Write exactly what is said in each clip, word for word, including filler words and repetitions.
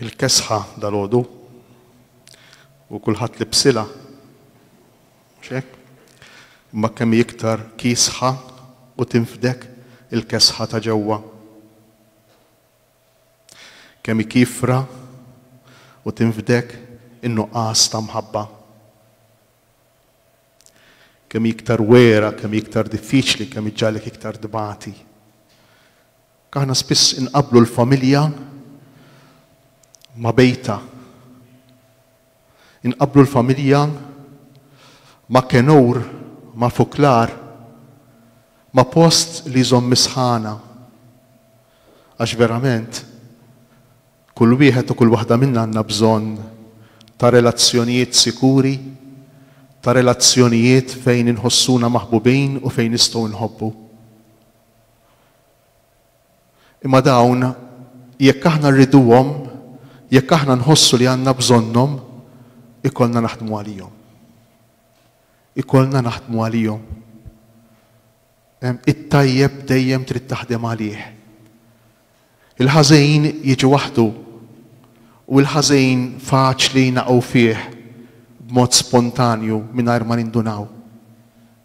Il-kesħa dalgħodu u kulħadd libsilha. Mhux hekk? Imma kemm hi iktar kiesħa u tinfdek il-kesħa ta' ġewwa. Kemm hi kiefra u tinfdek in-nuqqas ta' mħabba. Kemm hi iktar wera, kemm hi iktar diffiċli, kemm iġġagħlek iktar tbati. Aħna spiss inqabblu l-familja ma' bejta. Inqabblu l-familja ma' kenur, ma' fuklar, ma' post li jżomm is-sħana. Għax verament, kull wieħed u kull waħda minna għandna bżonn ta' relazzjonijiet sikuri, ta' relazzjonijiet fejn inħossuna maħbubin u fejn nistgħu nħobbu. Imma dawn, jekk aħna rriduhom, jekk aħna nħossu li għandna bżonnhom, ikollna naħdmu għalihom. Ikollna naħdmu għalihom. It-tajjeb dejjem trid taħdem għalih. Il-ħażin jiġi waħdu u l-ħażin faċli naqgħu fih b'mod spontanju mingħajr ma nindunaw.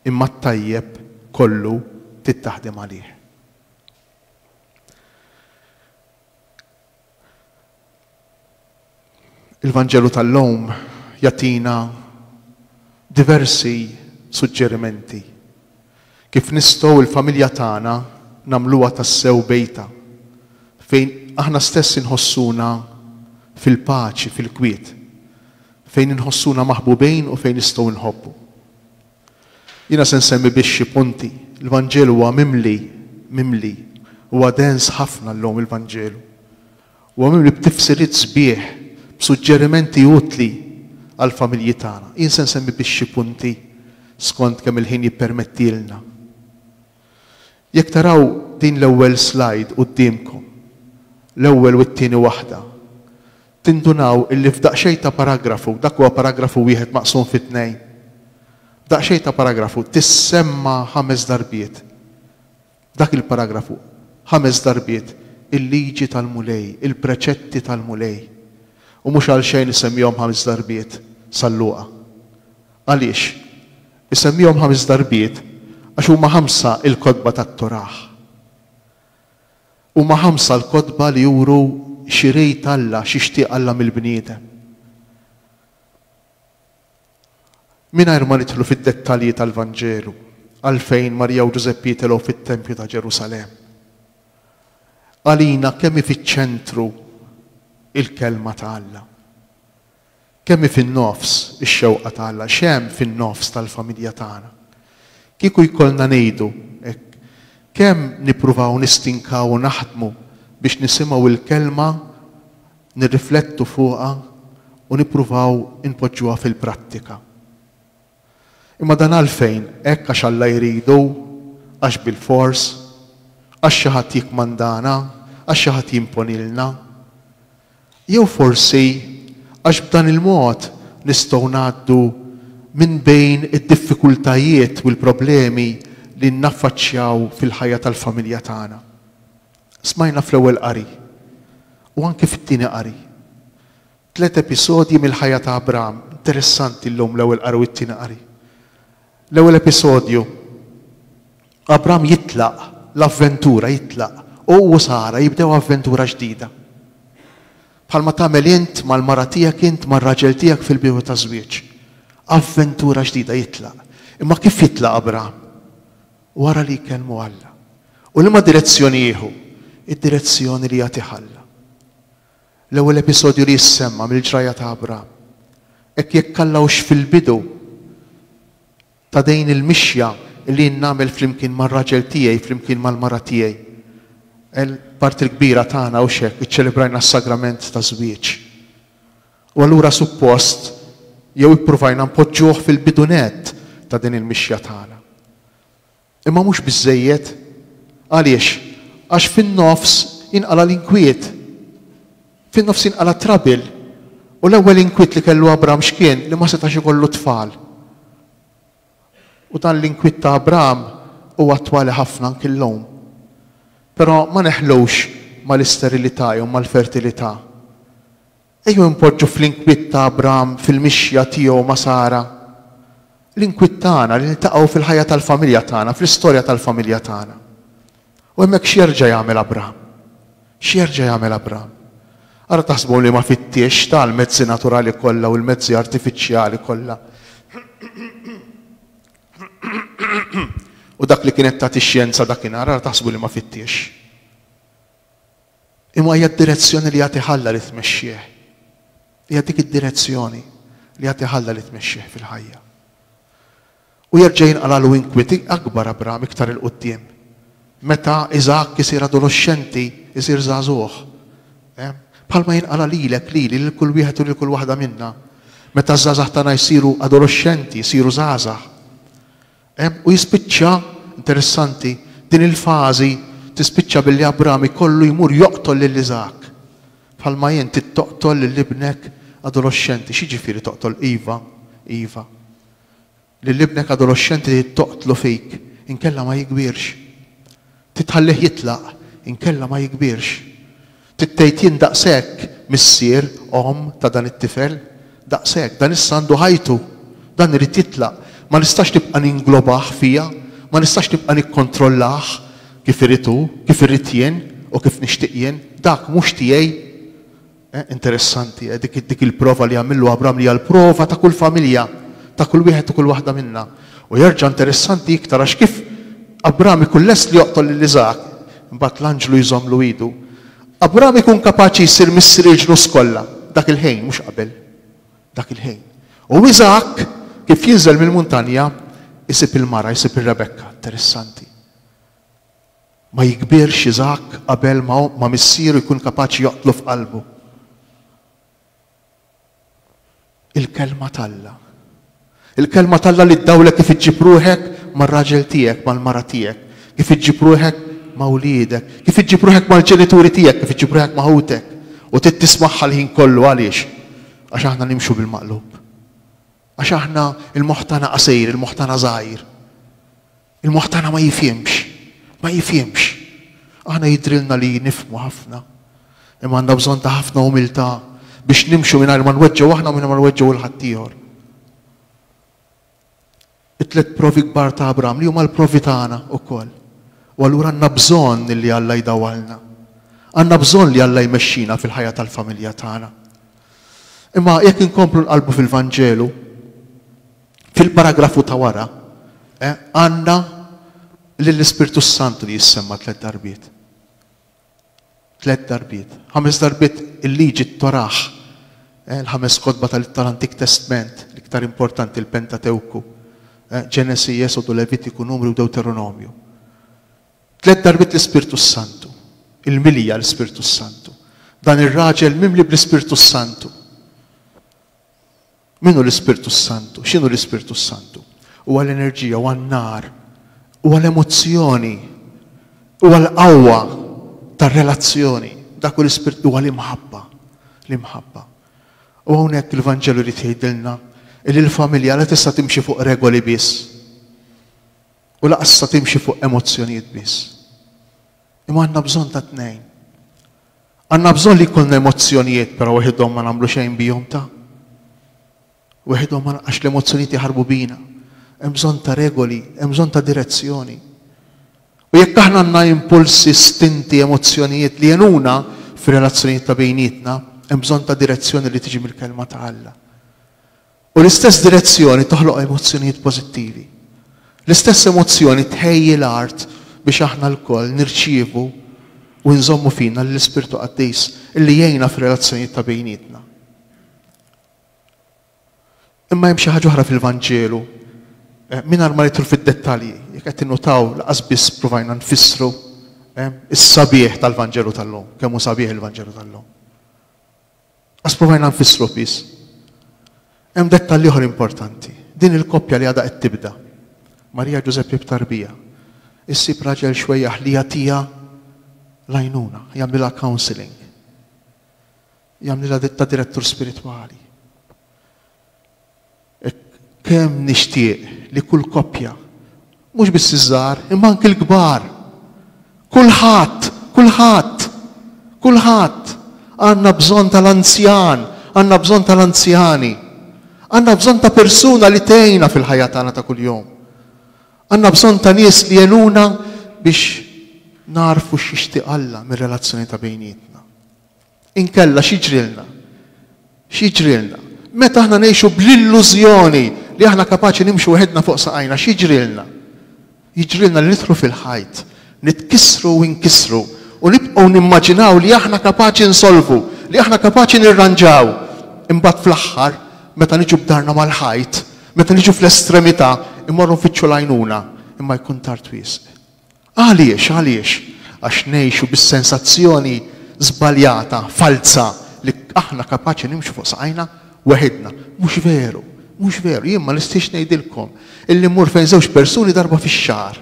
Imma t-tajjeb kollu trid taħdem għalih. Il-Vanġelu tal-lum jagħtina diversi suġġerimenti kif nistgħu l-familja tagħna nagħmluha tassew bejta fejn aħna stess inħossuna fil-paċi, fil-kwiet, fejn inħossuna maħbubin u fejn nistgħu nħobbu. Jiena se nsemmi biex xi punti. Il-Vanġelu huwa mimli, mimli, huwa dens ħafna llum il-Vanġelu. Huwa mimli b'tifsiriet sbieħ, b'suġġerimenti utli għall-familji tagħna. Jien se nsemmi biex xi punti skont kemm il-ħin jippermettilna. Jekk taraw din l-ewwel slide quddiemkom, l-ewwel u t-tieni waħda, tindunaw illi f'daqsxejn ta' paragrafu, dak huwa paragrafu wieħed maqsum fi tnejn, f'daqsxejn ta' paragrafu tissemma ħames darbiet. Dak il-paragrafu ħames darbiet il-liġi tal-Mulej, il-preċetti tal-Mulej. U mhux għalxejn isemmihom ħames darbiet San Luqa. Għaliex? Isemmihom ħames darbiet għax huma ħamsa il-kotba tat-Torah. Huma ħamsa l-kotba li juru x'irid Alla, x'ixtieq Alla mill-bniedem. Mingħajr ma nidħlu fid-dettalji tal-Vanġelu, għalfejn Marija u Ġużeppi jitilgħu fit-tempju ta' Ġerusalemm. Għalina kemm hi fiċ-ċentru il-kelma ta' Alla. Kemm hi fin-nofs ix-xewqa ta' Alla, x'hemm fin-nofs tal-familja tagħna. Kieku jkollna ngħidu hekk, kemm nippruvaw nistinkaw u naħdmu biex nisimgħu l-kelma, nirriflettu fuqha u nippruvaw inpoġġuha fil-prattika. Imma dan għalfejn? Hekk għax Alla jridu, għax bilfors, għax xi ħadd jikkmandana, għax xi ħadd jimponilna. Jew forsi għax b'dan il-mod nistgħu ngħaddu minn bejn id-diffikultajiet u l-problemi li naffaċċjaw fil-ħajja tal-familja tagħna. Smajna fl-ewwel qari u anke fit-tieni qari. Tliet episodji mill-ħajja ta' Abram, interessanti llum l-ewwel qari u t-tieni qari. L-ewwel episodju, Abram jitlaq l-avventura, jitlaq, u hu u Sara jibdew avventura ġdida. Bħalma tagħmel int mal-mara tiegħek, int mar-raġel tiegħek fil-bidu taż-żwieġ. Avventura ġdida jitlaq. Imma kif jitlaq Abram? Wara li jkellmu Alla. U liema direzzjoni jieħu? Id-direzzjoni li jagħtih Alla. L-ewwel episodju li jissemma mill-ġrajja ta' Abram. Hekk jekk Alla hux fil-bidu ta' din il-mixja li jien nagħmel flimkien mar-raġel tiegħi, flimkien mal-mara tiegħi. Il-parti l-kbira tagħna hux hekk, iċċelebrajna s-sagrament ta' żwieġ. U allura suppost jew ippruvajna npoġġuh fil-bidu nett ta' din il-mixja tagħna. Imma mhux biżżejjed. Għaliex? Għax fin-nofs jinqala l-inkwiet. Fin-nofs jinqala trouble. U l-ewwel inkwiet li kellu Abram x'kien? Li ma setax ikollu tfal. U dan l-inkwiet ta' Abram huwa attwali ħafna anki llum. Però ma neħlux mal-isterilità jew mal-fertilità. Ejjew npoġġu fl-inkwiet ta' Abram fil-mixja tiegħu ma' Sara. L-inkwiet tagħna li niltaqgħu fil-ħajja tal-familja tagħna, fl-istorja tal-familja tagħna. U hemmhekk x'jerġa' jagħmel Abram? X'jerġa' jagħmel Abram? Ara taħsbu li ma fittiex tal-mezzi naturali kollha u l-mezzi artifiċjali kollha. U dak li kienet tagħti x-xjenza dakinhar, ara taħsbu li ma fittiex. Imma hija d-direzzjoni li jagħti Alla li tmexxih. Hija dik id-direzzjoni li jagħti Alla li tmexxih fil-ħajja. U jerġa' jinqalalu inkwiet akbar Abram iktar il-quddiem. Meta Iżakk isir adolescenti, isir żagħżugħ. Bħalma jinqala lilek, lili, lil kull wieħed u lil kull waħda minna. Meta ż-żgħażagħ tagħna jsiru adolescenti, jsiru żgħażagħ. U jispiċċa, interessanti, din il-fażi tispiċċa billi Abram ikollu jmur joqtol lil Iżakk. Bħalma jien tittoqtol lil ibnek adolescenti. X'jiġifieri toqtol? Iva, iva. Lil ibnek adolescenti toqtlu fik, inkella ma jikbirx. Titħallih jitlaq, inkella ma jikbirx. Tittejt jien daqshekk missier, omm ta' dan it-tifel, daqshekk, dan issa għandu ħajtu, dan irid jitlaq. Ma nistax nibqa' ninglobah fija, ma nistax nibqa' nikkontrollah kif irid hu, kif irid jien u kif nixtieq jien, dak mhux tiegħi. Eh, interessanti, eh, dik, dik il-prova li għamillu Abram li hija l-prova ta' kull familja, ta' kull wieħed u kull waħda minna. U jerġa' interessanti iktar għax kif Abram ikun lest li joqtol lil Iżakk, imbagħad l-anġlu jżommlu idu. Abram ikun kapaċi jsir missier il-ġnus kollha, dak il-ħin, mhux qabel. Dak il-ħin. U Iżakk kif jinżel mill-muntanja isib il-mara, isib ir-Rebekka. Interessanti. Ma jikbirx Iżakk qabel ma, ma missieru jkun kapaċi joqtlu f'qalbu. Il-kelma t'Alla. Il-kelma t'Alla li ddawlek kif iġġib ruħek mar-raġel tiegħek, mal-mara tiegħek, kif iġġib ruħek ma' wliedek, kif iġġib ruħek mal-ġenituri tiegħek, kif iġġib ruħek ma' ħutek. U trid tismagħha l-ħin kollu għaliex? Għax aħna nimxu bil-maqlub. Għax aħna il-moħħ tagħna qasir, il-moħħ tagħna żgħir. Il-moħħ tagħna ma jifhimx, ma jifhimx. Aħna jidrilna li nifhmu ħafna. Imma għandna bżonn ta' ħafna umiltà biex nimxu mingħajr ma nweġġgħu aħna u mingħajr ma nweġġgħu 'l ħaddieħor. It-tliet provi kbar ta' Abram li huma l-provi tagħna wkoll. U allura għandna bżonn li Alla jdawwalna. Għandna bżonn li Alla jmexxina fil-ħajja tal-familja tagħna. Imma jekk inkomplu nqalbu fil-Vanġelu, fil-paragrafu ta' wara, eh, għandna lill-Ispirtu Santu li jissemma tliet darbiet. Tliet darbiet. Ħames darbiet il-liġi t-Torah, eh, l-ħames kotba tal-Antik Testament, l-iktar importanti l-Pentatewku, eh, Ġenesi, Esodu, Levitiku, Numri u Deuteronomju. Tliet darbiet l-Ispirtu Santu, il-milja l-Ispirtu Santu. Dan ir-raġel mimli bl-Ispirtu Santu. Min hu l-Ispirtu Santu? X'inhu l-Ispirtu Santu? Huwa l-enerġija, huwa n-nar, huwa l-emozzjoni, huwa l-qawwa tar-relazzjoni. Dak hu l-Ispirtu, huwa l-imħabba, l-imħabba. U hawnhekk il-Vanġelu jrid jgħidilna li l-familja la tista' timxi fuq regoli biss u lanqas tista' timxi fuq emozzjonijiet biss. Imma għandna bżonn ta' tnejn. Għandna bżonn li jkollna emozzjonijiet, però waħedhom ma nagħmlu xejn bihom ta' waħedhom ma għax l-emozzjonijiet jaħarbu bina. Hemm bżonn ta' regoli, hemm bżonn ta' direzzjoni. U jekk aħna għandna impulsi, stinti, emozzjonijiet li jenuna fir-relazzjonijiet ta' bejnietna, hemm bżonn ta' direzzjoni li tiġi mill-kelma ta' Alla. U l-istess direzzjoni toħloq emozzjonijiet pożittivi. L-istess emozzjoni tħejji l-art biex aħna lkoll nirċievu u nżommu fina l-Ispirtu Qaddis illi jgħinna fir-relazzjonijiet ta' bejnietna. Imma hemm xi ħaġa oħra fil-Vanġelu, mingħajr ma nidħlu fid-dettalji, jekk qed tinnutaw laqas biss provajna nfissru is-sabiħ tal-Vanġelu tal-lum, kemm hu sabiħ il-Vanġelu tal-lum. Qas provajna nfissru biss. Hemm dettalji oħra importanti. Din il-koppja li għadha qed tibda, Marija Ġużeppi b'tarbija, issib raġel xwejjaħ li jagħtiha l-għajnuna, jagħmlilha counseling, jagħmlilha ta' direttur spiritwali. Kemm nixtieq li kull koppja, mhux biss iż-żgħar, imma anki l-kbar, kulħadd, kulħadd, kulħadd għandna bżonn tal-anzjan, Għandna bżonn tal-anzjani. Għandna bżonn ta' persuna li tgħinna fil-ħajja tagħna ta' kuljum. Għandna bżonn ta' nies li jgħinuna biex narfu x'jixtieq Alla mir-relazzjoni ta' bejnietna. Inkella x'jiġrilna? X'jiġrilna? Meta aħna ngħixu bl-illużjoni li aħna kapaċi nimxu weħedna fuq saqajna, x'jiġrilna? Jiġrilna li nidħlu fil-ħajt, nitkissru u nkissru u nibqgħu nimmaġinaw li aħna kapaċi nsolvu, li aħna kapaċi nirranġaw. Imbagħad fl-aħħar, meta niġu b'darna mal-ħajt, meta niġu fl-estremità, immorru nfittxu l-għajnuna, imma jkun tard wisq. Għaliex, għaliex? Għax ngħixu bis-sensazzjoni żbaljata, falza, li aħna kapaċi nimxu fuq saqajna weħidna. Mhux veru, mhux veru. Jien ma nistax ngħidilkom illi mmur fejn żewġ persuni darba fix-xahar.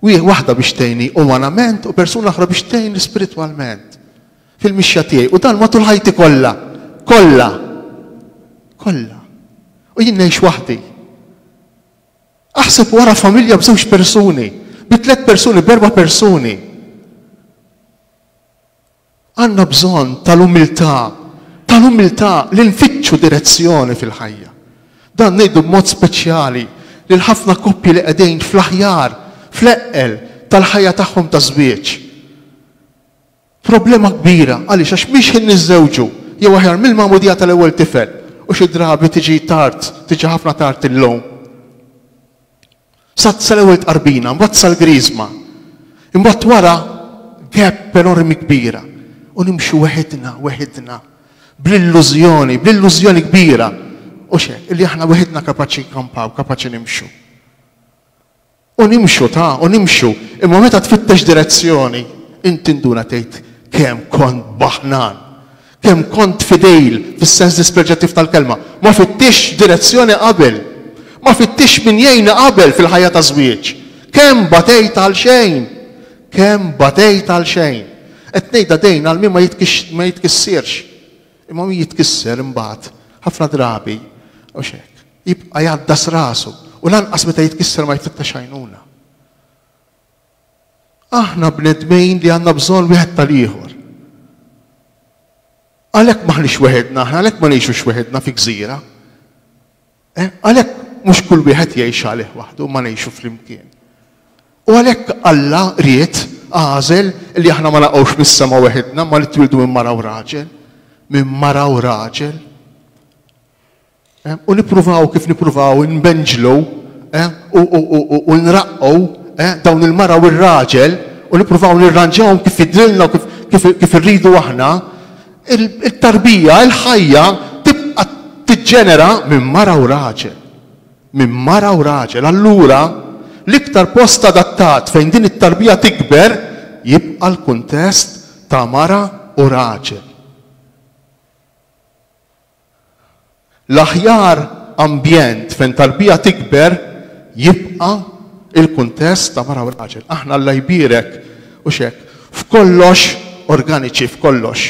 Waħda biex tgħinni umanament u persuna oħra biex tgħinni spiritwalment. Fil-mixja tiegħi. U dan matul ħajti kollha. Kollha. Kollha. U jien ngħix waħdi. Aħseb wara familja b'żewġ persuni, bi tliet persuni, b'erba' persuni. Għandna bżonn tal-umiltà, tal-umiltà li nfittxu direzzjoni fil-ħajja. Dan ngħidu b'mod speċjali lil ħafna koppji li qegħdin fl-aħjar, fl-eqqel tal-ħajja tagħhom ta' żwieġ. Problema kbira, għaliex għax mhix ħin niżżewġu, jew aħjar mill-magħmudija tal-ewwel tifel, u xi drabi tiġi tard, tiġi ħafna tard illum. Sa sal-ewwel tqarbina, mbagħad sal-griżma. Imbagħad wara gap enormi kbira. U nimxu weħidna, weħidna, bl-illużjoni, bl-illużjoni kbira. U xek, illi aħna weħidna kapaċi nkampaw, kapaċi nimxu. U nimxu ta' u nimxu, imma meta tfittex direzzjoni, inti nduna tgħid kemm kont baħnan, kemm kont fidejl fis-sens dispreġjattiv tal-kelma. Ma fittix direzzjoni qabel, ma fittix min jgħinna qabel fil-ħajja ta' żwieġ. Kemm batejt għal xejn, kemm batejt għal xejn. Qed ngħidha dejn għal min ma jitkissirx. Imma min jitkisser imbagħad ħafna drabi u xek, jibqa' jgħaddas rasu u lanqas meta jitkisser ma jfittex għajnuna. Aħna bnedmin li għandna bżonn wieħed tal-ieħor. Għalhekk m'aħniex weħedna, aħna għalhekk ma ngħixux weħedna fi gżira. Għalhekk mhux kull wieħed jgħix għalih waħdu, ma ngħixu flimkien. U għalhekk Alla ried għażel li aħna ma naqgħux mis-sema weħedna, ma li twildu minn mara u raġel, minn mara u raġel. U nippruvaw kif nippruvaw nbenġlu u nraqqgħu dawn il-mara u r-raġel u nippruvaw nirranġawhom kif jidrilna u kif irridu aħna, il-tarbija, il-ħajja tibqa' tiġġenera minn mara u raġel. Minn mara u raġel. Allura, l-iktar post adattat fejn din it-tarbija tikber jibqa' l-kuntest ta' mara u raġel. L-aħjar ambjent fejn tarbija tikber jibqa' il-kuntest ta' mara u raġel. Aħna Alla jbierek u xek, f'kollox organiċi, f'kollox.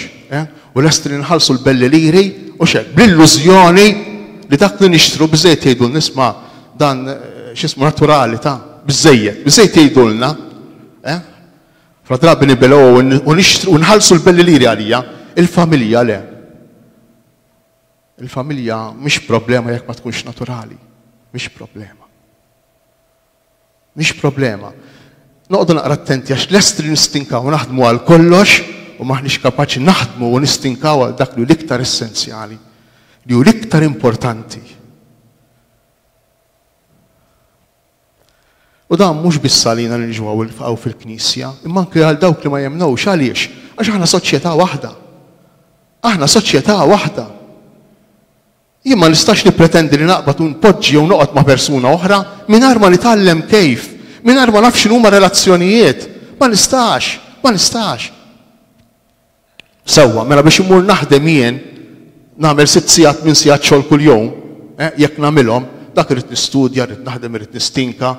U lesti li nħallsu l-belli liri u xek, bl-illużjoni li dak li nixtru biżejjed jgħidu nisma' dan x'ismu naturali ta' biżejjed, biżejjed jgħidulna. Fra drabi nibelgħu u nixtru u nħallsu l-belli liri għalija, il-familja le. Il-familja mhix problema jekk ma tkunx naturali, mhix problema. Mhix problema. Noqogħdu naqra attenti għax lesti li nistinkaw naħdmu għal kollox u maħniex kapaċi naħdmu u nistinkaw għal dak li hu l-iktar essenzjali, li hu l-iktar importanti. U dan mhux biss għalina li niġu hawn fil-Knisja, imma anke għal dawk li ma jemmnux. Għaliex? Għax aħna soċjetà waħda. Aħna soċjetà waħda. Jien ma nistax nippretendi li naqbad u npoġġi jew noqgħod ma' persuna oħra mingħajr ma nitgħallem kejf, mingħajr ma naf x'inhuma relazzjonijiet. Ma nistax, ma nistax. Sewwa, mela biex immur naħdem jien nagħmel sitt sigħat minn sigħat xogħol kuljum, jekk nagħmilhom, dak irid nistudja, irid naħdem, irid nistinka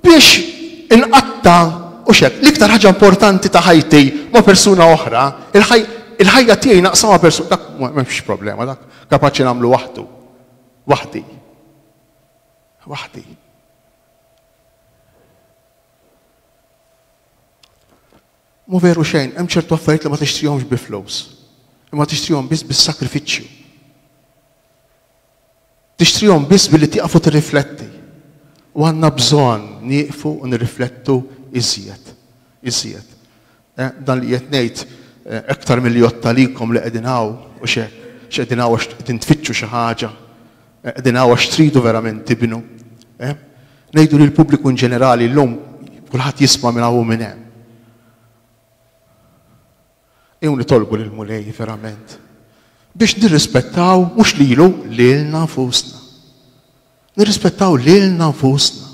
biex inqatta' u xek. L-iktar ħaġa importanti ta' ħajti ma' persuna oħra, il-ħajja tiegħi naqsam ma' persuna, dak m'hemmx problema, dak kapaċi nagħmlu waħdu. Waħdi. Waħdi. Mu veru xejn, hemm ċertu affarijiet li ma tixtrihomx bi flus, imma tixtrihom biss bis-sakrifiċċju. Tixtrihom biss billi tieqaf u tirrifletti. U għandna bżonn nieqfu u nirriflettu iżjed. Iżjed. Eh, dan li qed ngħid eh, aktar milli jgħodd għalikom li qegħdin hawn u xek, x'qegħdin hawn għax qegħdin tfittxu xi ħaġa, eh, qegħdin hawn għax tridu verament tibnu. Ngħidu li l-pubbliku in ġenerali llum kulħadd jisma' minn hawn u minn hemm. Ejjew nitolbu lill-Mulej verament biex nirrispettaw mhux lilu lilna nfusna. Nirrispettaw lilna nfusna.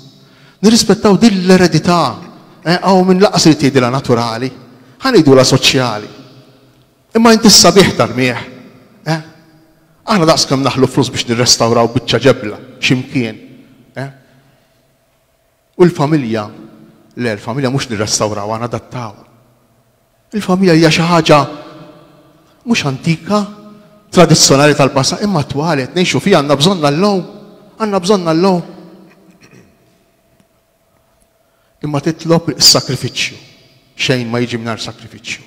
Nirrispettaw din l-eredità. Hawn min lanqas irid jgħidilha naturali, ħa ngħidulha soċjali. Imma inti s-sabiħ tarmih. Eh? Aħna daqs kemm naħlu flus biex nirrestawraw biċċa ġebla x'imkien. Eh? U l-familja, le, l-familja mhux nirrestawraw, nadattaw. Il-familja hija xi ħaġa mhux antika, tradizzjonali tal-passat, imma attwali qed ngħixu fiha għandna bżonn llum, għandna bżonn llum. Imma titlob is-sakrifiċċju. Xejn ma jiġi mingħajr sakrifiċċju.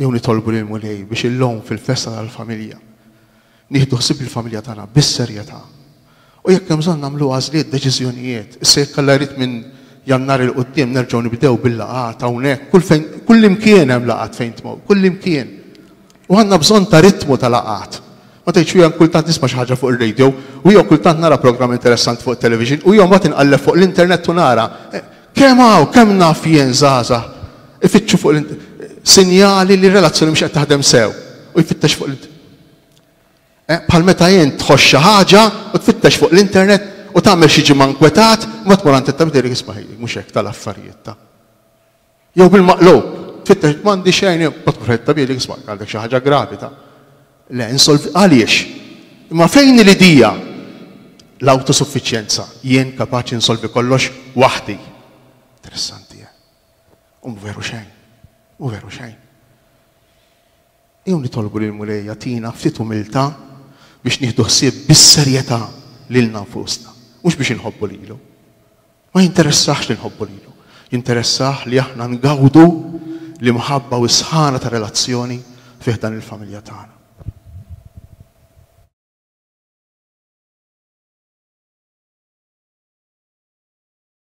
Jew nitolbu lil Mulej biex illum fil-festa tal-familja nieħdu ħsieb il-familja tagħna bis-serjetà. U jekk hemm bżonn nagħmlu għażliet deċiżjonijiet, issa jekk Alla jrid minn Jannar 'il quddiem nerġgħu nibdew bil-laqgħat hawnhekk, kull fejn kull imkien hemm laqgħat fejn tmur, kull imkien. U għandna bżonn ta' ritmu ta' laqgħat. Ma tgħidx jien kultant nisma' xi ħaġa fuq ir-radio, u jew kultant nara programm interessanti fuq television, u jew mbagħad inqalleb fuq l-internet u nara. Kemm hawn, kemm naf jien żgħażagħ ifittxu fuq sinjali li relazzjoni mhux qed taħdem sew u jfittex fuq l Bħal meta jien tħoss xi ħaġa u tfittex fuq l-internet u tagħmel xi ġimgħa nkwetat, ma tmur għand it-tabib tgħidlek isma' mhux hekk tal-affarijiet ta' Jew bil-maqlub, tfittex m'għandi xejn, ma tmur għand it-tabib jgħidlek isma' għandek xi ħaġa gravi ta' Le, insolvi għaliex? Imma fejn l-idea? L-autosuffiċjenza. Jien kapaċi nsolvi kollox waħdi. Interessanti, eh? U veru xejn. U veru xejn. Ejjew nitolbu lil Mulej jagħtina ftit umiltà biex nieħdu ħsieb bis-serjetà lilna nfusna. Mhux biex inħobbu lilu. Ma jinteressax li nħobbu lilu. Jinteressah li aħna ngawdu l-imħabba u s-sħana ta' relazzjoni fih dan il-familja tagħna.